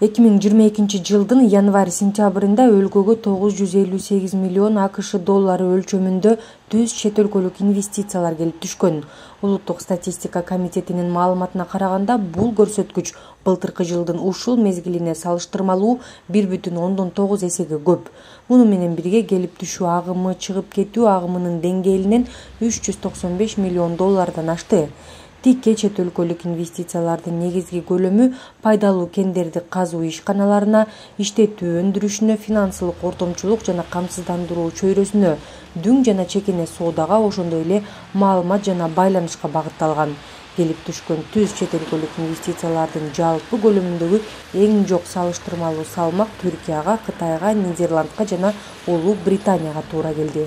2022-жылдын январь-сентябрында өлкөгө 958 миллион АКШ доллары өлчөмүндө түз чет өлкөлүк инвестициялар келип түшкөн. Улуттук статистика комитетинин маалыматына караганда, бул көрсөткүч былтыркы жылдын ушул мезгилине салыштырмалуу 1,9 эсеге көп. Муну менен бирге келип түшүү агымы чыгып кетүү агымынын деңгээлинен 395 миллион доллардан ашты. Тикке чет өлкөлүк инвестициялардын негизги көлөмү пайдалуу кендерди казуу ишканаларына, иштетүү өндүрүшүнө, финансылык ортомчулук жана камсыздандыруу чөйрөсүнө, дүң жана чекене соодага, ошондой эле маалымат жана байланышка багытталган. Келип түшкөн түз чет өлкөлүк инвестициялардын жалпы көлөмүндөгү эң жок салыштырмалуу салмак Түркияга, Кытайга, Нидерландка жана Улуу Британияга туура келди.